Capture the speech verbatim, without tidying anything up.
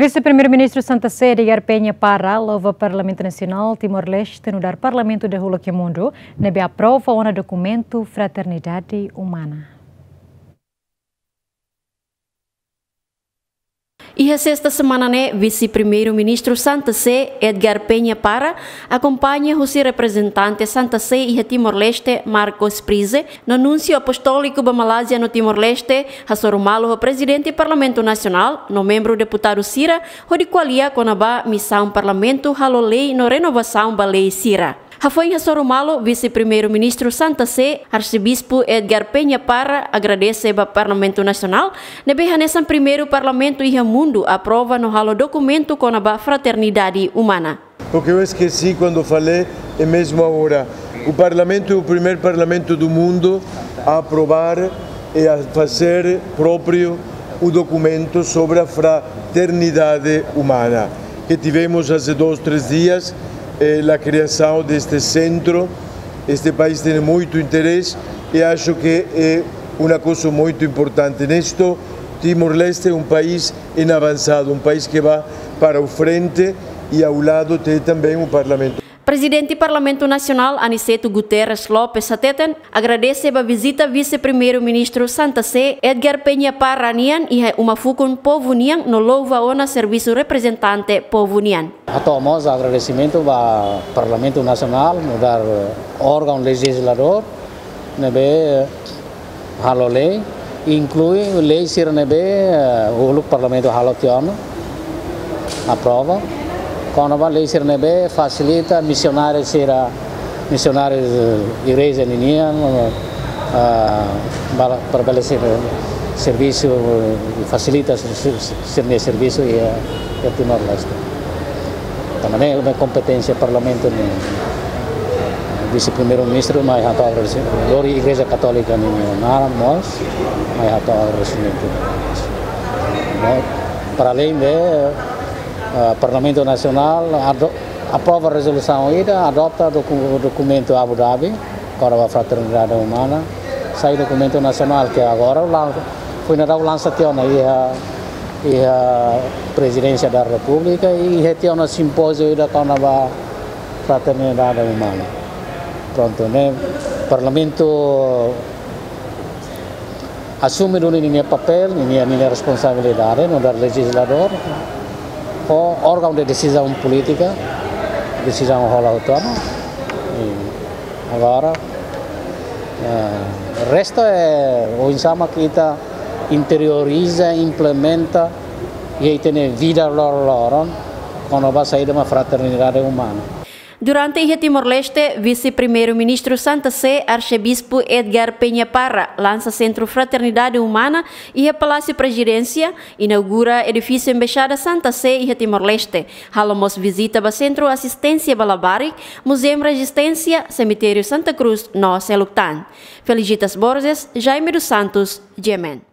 Vise-Primeiru-Ministru Santa Sé, Edgar Penha Parra, louva Parlamentu Nasionál Timor-Leste nu'udar parlamentu dahuluk iha mundu, ne'ebé aprova ona dokumentu fraternidade umana. Iha sesta semana ne'e, Vise-Primeiru-Ministru Santa Sé, Edgar Penha Parra, akompaña husi reprezentante Santa Sé iha Timor-Leste, Marcos Prize, no núnsiu apostóliku ba Malázia no Timor-Leste, hasoru malu ho Prezidente Parlamentu Nasionál no membru deputadu sira, hodi ko'alia kona-ba misaun Parlamentu halo lei no renovasaun ba lei sira. Hafoin hasoru malu, Vise-Primeiru-Ministru Santa Sé, Arsebispu Edgar Penha Parra, agradese ba Parlamentu Nasionál, ne'ebé hanesan primeiru parlamentu iha mundu aprova no halo dokumentu kona-ba fraternidade umana. Porque eu esqueci quando falei, e mesmo agora, o Parlamento é o primeiro Parlamento do mundo a aprovar e a fazer próprio o documento sobre a fraternidade humana, que tivemos há dois, três dias, eh, a criação deste centro. Este país tem muito interesse e acho que é uma coisa muito importante. Nisto, Timor-Leste é um país em avançado, um país que vai para o frente e ao lado tem também o Parlamento. Prezidente Parlamentu Nasionál, Aniceto Guterres Lopes, hateten, agradese ba vizita Vise-Primeiru-Ministru Santa Sé, Edgar Penha Parra nian, iha uma fukun povu nian no louva ona servisu reprezentante povu nian. Hato'o mós agradesimentu ba Parlamentu Nasionál, nu'udar órgaun lejizladór, ne'ebé halo lei, inklui lei sira ne'ebé, eh, uluk Parlamentu halo tiha ona, aprova. Kona-ba lei sira ne'ebé fasilita misionáriu sira, misionáriu, eh, igreja ninian, eh, ba, para bele ser-, servisu, eh, fasilita ser-, ser-, sira-nia servisu iha, iha Timor-Leste. Tanba ne'e kompeténsia Parlamentu nian. Vise-Primeiru-Ministru mai hato'o agradesimentu. Lori Igreja Katólika nian mós mai hato'o agradesimentu. No, para além de, eh, Parlamentu Nasionál ado-, aprova rezolusaun ida, adota doku-, dokumentu Abu Dhabi, kona-ba fraternidade umana, sai dokumentu nasionál ke agora lan-, foin daudauk lansa tiha ona iha, iha Prezidénsia da Repúblika, i iha tiha ona simpóziu ida kona-ba fraternidade umana. Prontu, ne'e Parlamentu asume duni ninia papél, ninia, ninia responsabilidade, nu'udar lejizladór, ho órgaun de desizaun polítika, desizaun hola hotu ona. I agora, eh, restu é oinsá mak ita interioriza, implementa, i ita-nia vida loroloron, kona-ba saida mak fraternidade umana. Durante iha Timor-Leste, Vise-Primeiru-Ministru Santa Sé, Arsebispu Edgar Penha Parra, lansa Sentru Fraternidade Umana iha Palásiu Prezidénsia, inaugura edifísiu Embaixada Santa Sé iha Timor-Leste, halo mós vizita ba Sentru Asisténsia ba Labarik, Muzeu Rezisténsia, Semitériu Santa Cruz no seluk tan. Felicitas Borges, Jaime dos Santos, G M N.